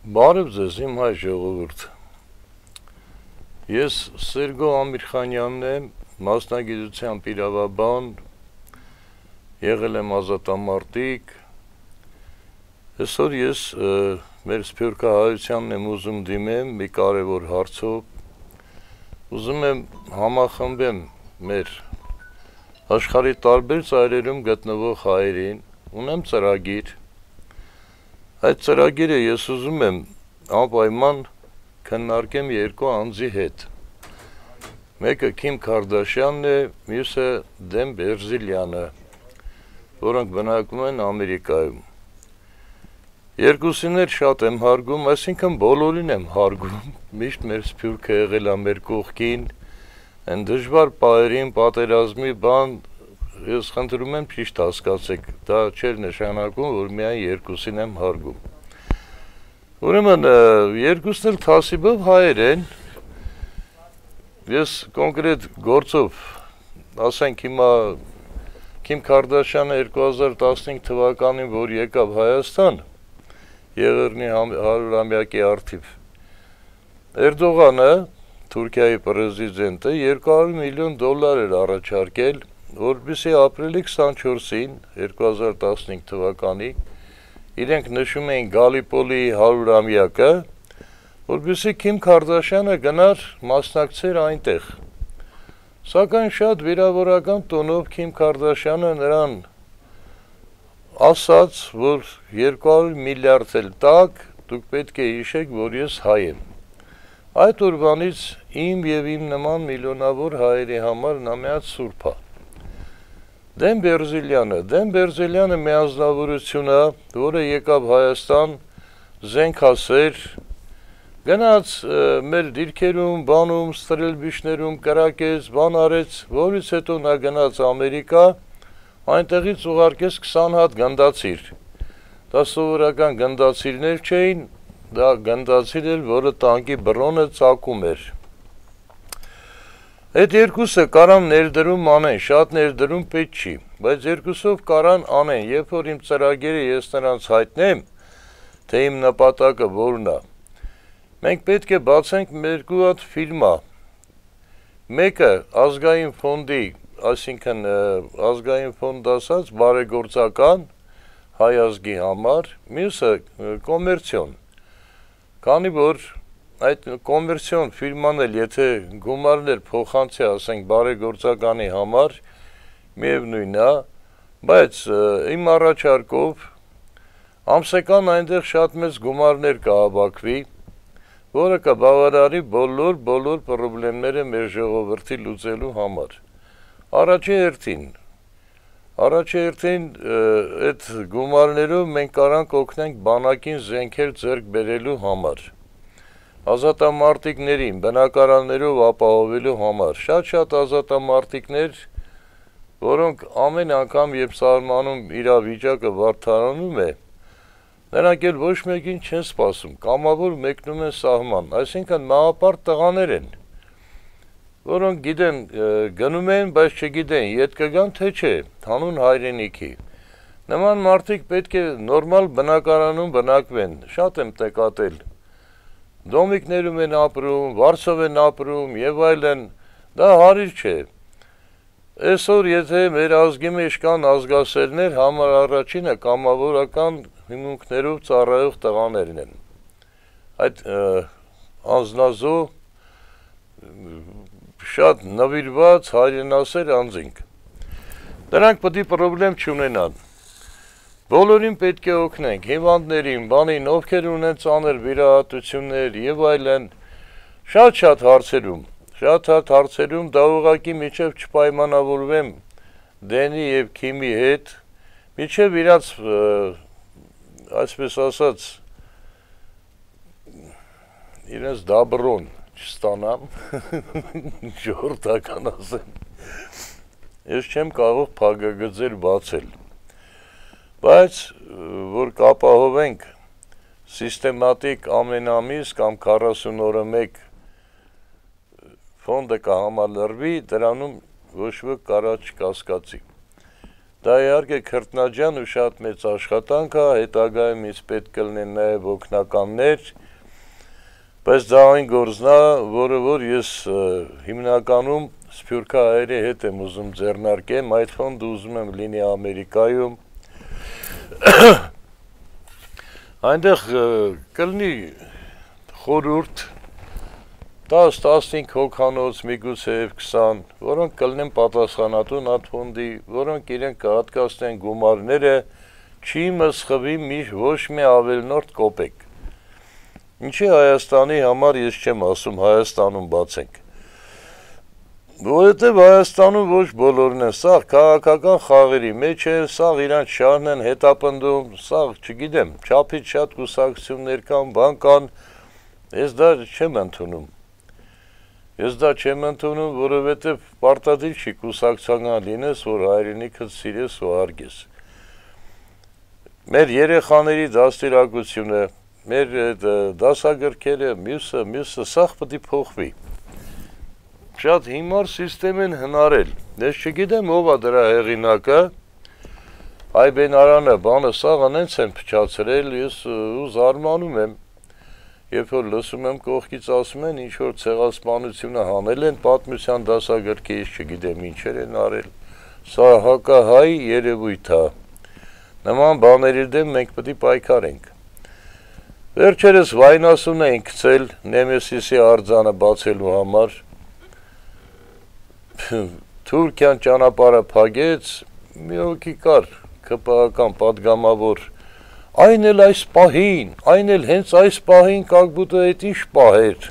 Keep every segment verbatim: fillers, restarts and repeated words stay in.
Բարև ձեզ, իմ հայ ժողովուրդ։ Ես Սերգո Ամիրխանյանն եմ, մասնագիտությամբ իրավաբան, եղել եմ ազատամարտիկ։ Այսօր ես մեր սփյուռքահայությանն եմ ուզում դիմեմ մի կարևոր հարցով։ Ուզում եմ համախմբեմ մեր աշխարհի տարբեր ծայրերում գտնվող հայերին, ունեմ ծրագիր։ Այդ ծրագիրը ես ուզում եմ անպայման քննարկեմ երկու անձի հետ։ Մեկը Քիմ Քարդաշյանն է, մյուսը Դեն Բերզիլյանը, որոնք բնակվում են Ամերիկայում։ Երկուսին էլ շատ եմ հարգում, այսինքն բոլորին եմ հարգում, միշտ մեր սփյուռքը եղել է մեր կողքին, այն դժվար պահերին, պատերազմի բան, ես խնդրում եմ ճիշտ հասկացեք, դա չէր նշանակում, որ միայն երկուսին եմ հարգում։ Ուրեմն երկուսն էլ թասիբով հայեր են, ես կոնկրետ գործով, ասենք հիմա Քիմ Քարդաշյանը երկու հազար տասնհինգ թվականին, որ եկավ Հայաստան, Եղեռնի հարյուրամյակի առթիվ, Էրդողանը, Թուրքիայի պրեզիդենտը, երկու հարյուր միլիոն դոլար էր առաջարկել, որպեսզի ապրիլի քսանչորսին, երկու հազար տասնհինգ թվականի, իրենք նշում էին Գալիպոլիի հարյուրամյակը, որպեսզի Քիմ Քարդաշյանը գնար մասնակցեր այնտեղ։ Սակայն շատ վիրավորական տոնով Քիմ Քարդաշյանը նրան ասաց, որ երկու հարյուր միլիարդ էլ տաք, դուք պետք է հիշեք, որ ես հայ եմ։ Այդ օրվանից իմ եւ իմ նման միլիոնավոր հայերի համար նա միած սուրբ է։ Դեն Բերզիլյանը, Դեն Բերզիլյանը մի անձնավորություն է, որը եկավ Հայաստան, զենքասեր, գնաց մեր դիրքերում, բանում, ստրելբիշներում, կրակեց, բան արեց, որից հետո նա գնաց Ամերիկա, այնտեղից ուղարկեց քսան հատ գնդացիր։ Դա սովորական գնդացիրներ չէին, դա գնդացիր էր, որը տանկի բռոնը ծակում էր։ Այդ երկուսը կարան ներդրում անեն, շատ ներդրում պետք չի, բայց երկուսով կարան անեն, երբ որ իմ ծրագիրը ես նրանց հայտնեմ, թե իմ նպատակը որն է։ Մենք պետք է բացենք երկու հատ ֆիլմա։ Մեկը ազգային ֆոնդի, այսինքն ազգային ֆոնդ ասած բարեգործական հայ ազգի համար, մյուսը կոմերցիոն։ Քանի որ այդ կոմերցիոն ֆիրման էլ եթե գումարներ փոխանցի, ասենք բարեգործականի համար, միևնույն է, բայց իմ առաջարկով ամսական այնտեղ շատ մեծ գումարներ կհավաքվի, որը կբավարարի բոլոր բոլոր խնդիրները մեր ժողովրդի լուծելու համար։ Առաջի հերթին, առաջի հերթին այդ գումարներով մենք կարանք օգնենք բանակին զենքեր ձեռք բերելու համար։ Ազատամարտիկներին բնակարաններով ապահովելու համար, շատ-շատ ազատամարտիկներ, որոնք ամեն անգամ, երբ սահմանում իրավիճակը վարդարանում է, նրանք էլ ոչ մեկին չեն սպասում, կամավոր մեկնում են սահման, այսինքն մահապարտ տղաներ են, որոնք գիտեն, գնում են, բայց չգիտեն, ետ կգան, թե չէ, հանուն հայրենիքի։ Նման մարդիկ պետք է նորմալ բնակարանում բնակվեն, շատ եմ նկատել։ Դոմիկներում են ապրում, Վարշավ են ապրում եւ այլն, դա հարիր չէ։ Այսօր եթե մեր ազգի մեջ կան ազգասերներ, համար առաջինը կամավորական հիմունքներով ծառայող տղաներն են։ Այդ անձնազո շատ նվիրված հայրենասեր անձինք։ Դրանք պետք է խնդրեմ չունենան։ Բոլորին պետք է օգնենք, հիվանդներին, բանին, ովքեր ունեն ծանր վիրահատություններ եւ այլն, շատ-շատ հարցերում, շատ-շատ հարցերում դա ուղղակի միջև չպայմանավորվեմ Դենի եւ Քիմի հետ, միջև իրաց, այսպես ասած, իրենց դաբրոն չստանամ, ժողովրդական ասեմ, ես չեմ կարող փակագծեր բացել։ Բայց, որ կապահովենք սիստեմատիկ ամեն ամիս կամ քառասուն օրը մեկ ֆոնդը կհամալրվի, դրանում ոչ ոք կարա չկասկածի։ Դա իհարկե քրտնաջան ու շատ մեծ աշխատանք է, հետագայում ինձ պետք կլինեն նաև օգնականներ, բայց դա այն գործն է, որը որ ես հիմնականում սփյուռքահայերի հետ եմ ուզում ձեռնարկեմ, այդ ֆոնդը ուզում եմ լինի Ամերիկայում, այնտեղ կլինի խորհուրդ տաս տասնհինգ հոգանոց, միգուցե քսան, որոնք կլինեն պատասխանատուն այդ ֆոնդի, որոնք իրենք կհատկացնեն գումարները, չի մսխվի ոչ մի ավելնորդ կոպեկ։ Ինչի Հայաստանի համար ես չեմ ասում Հայաստանում բացենք։ Որովհետև Հայաստանում ոչ բոլորն են, սաղ քաղաքական խաղերի մեջ են, սաղ իրանց շահն են հետապնդում, սաղ չգիտեմ, չափից շատ կուսակցություններ կան, բան կան, ես դա չեմ ընդունում։ Ես դա չեմ ընդունում, որովհետև պարտադիր չի կուսակցական լինես, որ հայրենիքդ սիրես ու հարգես։ Մեր երեխաների դաստիարակությունը, մեր դասագրքերը, մյուսը, մյուսը սաղ պետք է փոխվի։ Շատ հիմար սիստեմ են հնարել։ Ես չգիտեմ ով է դրա հեղինակը, Այբեն Արանը բանը սաղ անենց են փչացրել, ես ու զարմանում եմ։ Երբ որ լսում եմ կողքից ասում են, ինչ-որ ցեղասպանությունը հանել են, պատմության դասագրքից չգիտեմ ինչեր են արել, սա հակահայ երևույթ է, նման բաների դեմ մենք պետք է պայքարենք։ Վերջերս վայնասուն էին գցել Նեմեսիսի արձանը բացելու համար, Թուրքիան ճանապարհը փակեց, մի հոգի կար, ԿՊՀ-ական պատգամավոր, Այն էլ այս պահին, այն էլ հենց այս պահին как будто այդ ինչ պահեր,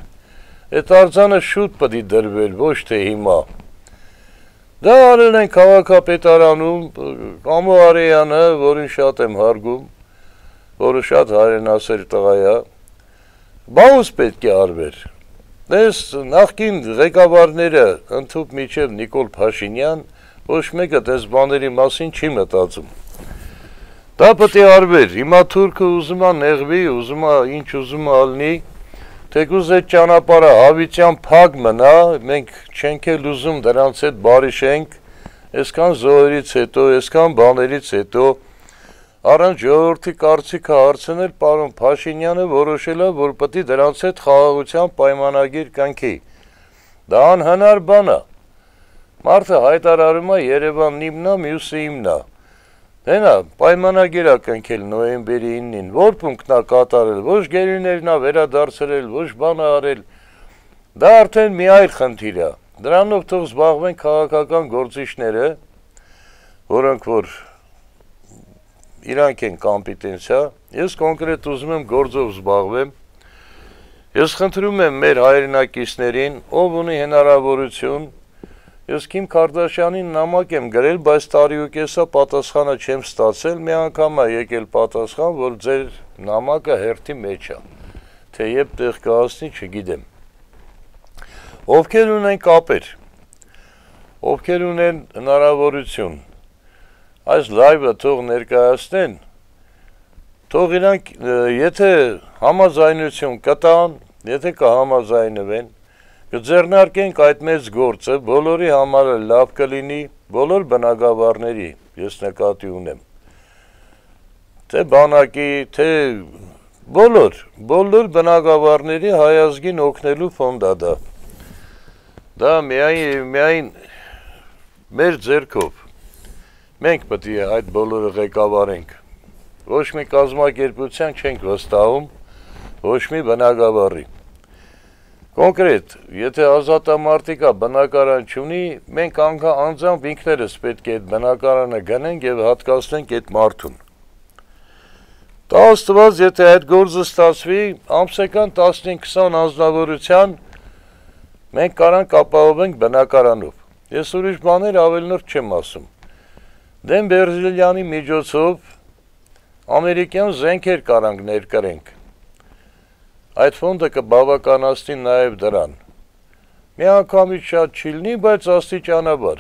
այդ արձանը շուտ պետք է դրվել, ոչ թե հիմա։ Դա արել են քաղաքապետարանում, Կամո Արեյանը, որին շատ եմ հարգում, որը շատ հայրենասեր տղա է, բաուս պետք է արվեր։ Դες նախկին ղեկավարները ընդհուպ միջև Նիկոլ Փաշինյան, ոչ մեկը դες բաների մասին չի մտածում։ Դա պետք է արվեր, հիմա թուրքը ուզում է նեղվի, ուզում է ինչ ուզում է ալնի, թեկուզ այդ ճանապարհը հավիտյան փակ մնա, մենք չենք էլ ուզում դրանց հետ բարիշենք, այսքան զոհերից հետո, այսքան բաներից հետո, առանց ժողովրդի կարծիքը հարցնել, պարոն Փաշինյանը որոշել է, որ պետք է դրանց հետ խաղաղության պայմանագիր կնքի։ Դա անհնար բան է։ Մարդը հայտարարում է Երևանն իմն է, մյուսը իմն է։ Հենա, պայմանագիր է կնքել նոյեմբերի իննին, որ պունքն է կատարել, ոչ գերիներն է վերադարձրել, ոչ բան է արել, դա արդեն մի այլ խնդիր է, դրանով թող զբաղվեն քաղաքական գործիչները, որոնք որ իրանք են կոմպետենցիա, ես կոնկրետ ուզում եմ գործով զբաղվեմ, ես խնդրում եմ մեր հայրենակիցներին, ով ունի հնարավորություն, Ես Քիմ Քարդաշյանին նամակ եմ գրել, բայց տարի ու կեսա պատասխանը չեմ ստացել, մի անգամ է եկել պատասխան, որ ձեր նամակը հերթի մեջ է, թե երբ տեղ կհասնի, չգիտեմ։ Ովքեր ունեն կապեր, ովքեր ունեն հնարավորություն, այս լայվը թող ներկայացնեն, թող իրանք, եթե համաձայնություն կտան, եթե կհամաձայնվեն, Կձեռնարկենք այդ մեծ գործը, բոլորի համար լավ կլինի, բոլոր բնակավարների, ես նկատի ունեմ, թե բանակի, թե բոլոր, բոլոր բնակավարների հայազգին օգնելու ֆոնդ է դա։ Դա միայն, միայն մեր ձեռքով, մենք պետք է այդ բոլորը ղեկավարենք, ոչ մի կազմակերպության չենք վստահում, ոչ մի բնակավարի։ Կոնկրետ, եթե ազատամարտիկա բնակարան չունի, մենք անձամբ ինքներս պետք է այդ բնակարանը գնենք և հատկացնենք այդ մարդուն։ Դա աստված, եթե այդ գործը ստացվի, ամսական տասնհինգ քսան անձնավորության մենք կարանք ապահովենք բնակարանով։ Ես ուրիշ բաներ ավելնորդ չեմ ասում։ Դեմ Բերզիլյանի միջոցով ամերիկյան զենքեր կարանք ներկրենք։ Այդ ֆոնդը կբավականացնի նաև դրան։ Մի անգամից շատ չի լինի, բայց աստիճանաբար։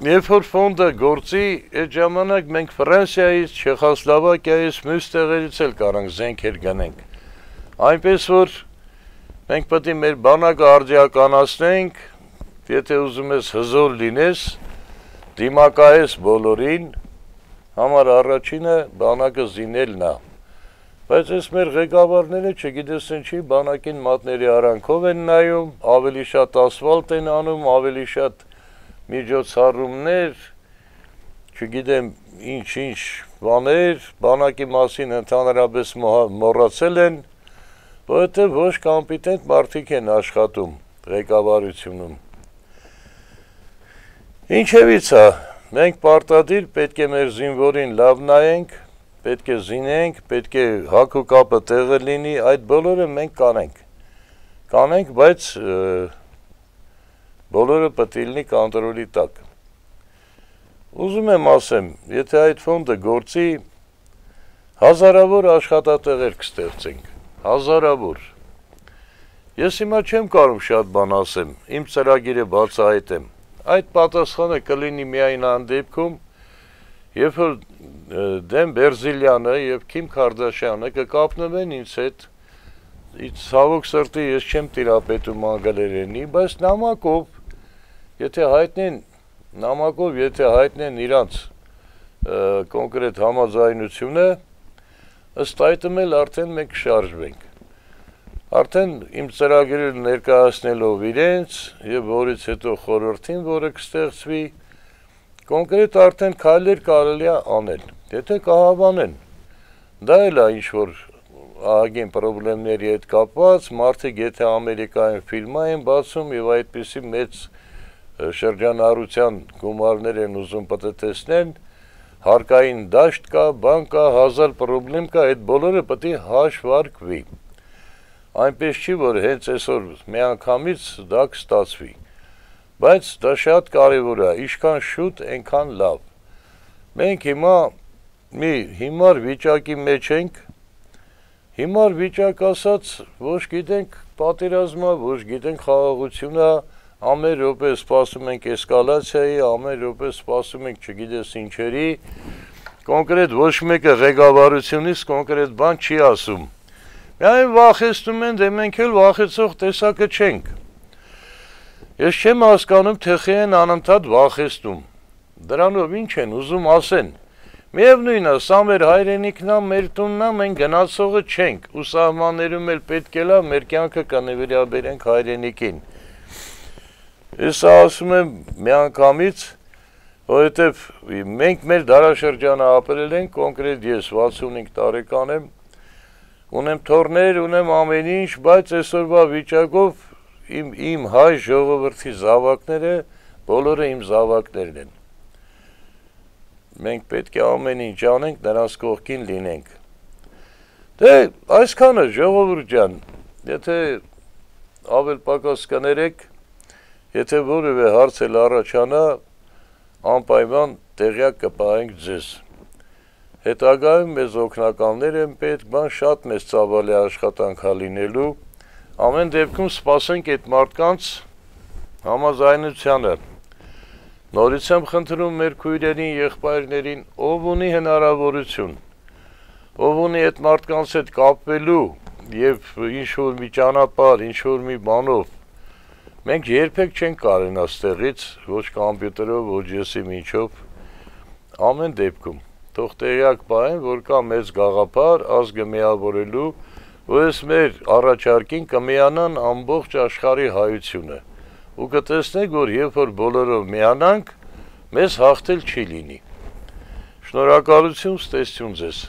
Երբ որ ֆոնդը գործի, այդ ժամանակ մենք Ֆրանսիայից, Չեխոսլովակիայից, մյուս տեղերից էլ կարանք զենքեր գնենք։ Այնպես որ մենք պետք է մեր բանակը արդիականացնենք, եթե ուզում ես հզոր լինես, դիմակայես բոլորին, համար առաջինը բանակը զինելն է, բայց ես մեր ղեկավարները չգիտես ինչի բանակին մատների արանքով են նայում, ավելի շատ ասվալտ են անում, ավելի շատ միջոցառումներ, չգիտեմ ինչ-ինչ բաներ, բանակի մասին ընդհանրապես մոռացել են, որովհետև ոչ կոմպետենտ մարդիկ են աշխատում ղեկավարությունում։ Ինչևից է, մենք պարտադիր պետք է մեր զինվորին լավ նայենք, պետք է զինենք, պետք է հագ ու կապը տեղը լինի, այդ բոլորը մենք կանենք, կանենք, բայց բոլորը պետք է լինի կոնտրոլի տակ։ Ուզում եմ ասեմ, եթե այդ ֆոնդը գործի, հազարավոր աշխատատեղեր կստեղծենք, հազարավոր։ Ես հիմա չեմ կարող շատ բան ասեմ, իմ ծրագիրը բացահայտեմ, այդ պատասխանը կլինի միայն այն դեպքում, երբ որ Դեմ Բերզիլյանը և Քիմ Քարդաշյանը կկապնվեն ինձ հետ, ցավոք սրտի ես չեմ տիրապետում անգլերենի, բայց նամակով, եթե հայտնեն, նամակով եթե հայտնեն իրանց կոնկրետ համաձայնությունը, ըստ այդմ էլ արդեն մենք շարժվենք։ Արդեն իմ ծրագիրը ներկայացնելով իրենց և որից հետո խորհրդին, որը կստեղծվի, կոնկրետ արդեն քայլեր կարելի է անել, եթե կհավանեն, դա էլ է ինչ-որ ահագին պրոբլեմների հետ կապված, մարդիկ եթե Ամերիկայում ֆիլմ են բացում և այդպիսի մեծ շրջանառության գումարներ են ուզում պտտեցնեն, հարկային դաշտ կա, բան կա, հազար պրոբլեմ կա, այդ բոլորը պետք է հաշվարկվի։ Այնպես չի, որ հենց այսօր միանգամից դա կստացվի, բայց դա շատ կարևոր է, ինչքան շուտ, այնքան լավ։ Մենք հիմա մի հիմար վիճակի մեջ ենք, հիմար վիճակ ասած, ոչ գիտենք պատերազմը, ոչ գիտենք խաղաղությունը, ամեն րոպե սպասում ենք էսկալացիայի, ամեն րոպե սպասում ենք չգիտես ինչերի, կոնկրետ ոչ մեկը ղեկավարությունից կոնկրետ բան չի ասում։ Միայն վախեցնում են, դե մենք էլ վախեցող տեսակը չենք։ Ես չեմ հասկանում, թե խի են անընդհատ վախեցնում։ Դրանով ինչ են ուզում ասեն։ Միևնույն է, սա մեր հայրենիքն է, մեր տունն է, մենք գնացողը չենք, ու սահմաններում էլ պետք է լա մեր կյանքը կնվիրաբերենք հայրենիքին։ Ես ասում եմ միանգամից, որովհետև մենք մեր դարաշրջանը ապրել ենք, կոնկրետ ես վաթսունհինգ տարեկան եմ, ունեմ թոռներ, ունեմ ամեն ինչ, բայց այսօրվա վիճակով իմ, իմ հայ ժողովրդի զավակները, բոլորը իմ զավակներն են։ Մենք պետք է ամեն ինչ անենք, նրանց կողքին լինենք։ Դե, այսքանը ժողովուրդ ջան, եթե ավել պակաս կներեք, եթե որևէ հարց էլ առաջանա, անպայման տեղյակ կպահենք ձեզ։ Հետագայում մեզ օգնականներ են պետք, բան շատ մեծ ծավալի աշխատանք է լինելու, ամեն դեպքում սպասենք այդ մարդկանց համաձայնությանը։ Նորից եմ խնդրում մեր քույրերին, եղբայրներին, ով ունի հնարավորություն, ով ունի այդ մարդկանց հետ կապվելու և ինչ-որ մի ճանապարհ, ինչ-որ մի բանով, մենք երբեք չենք կարենա ստեղից, ոչ կոմպյուտերով, ոչ եսի միջով, ամեն դեպքում։ Թող տեղյակ պահեն, որ կա մեծ գաղափար ազգը միավորելու, որ ես մեր առաջարկին կմիանան ամբողջ աշխարհի հայությունը, ու կտեսնեք, որ երբ որ բոլորով միանանք, մեզ հաղթել չի լինի։ Շնորհակալություն, ստեսություն ձեզ։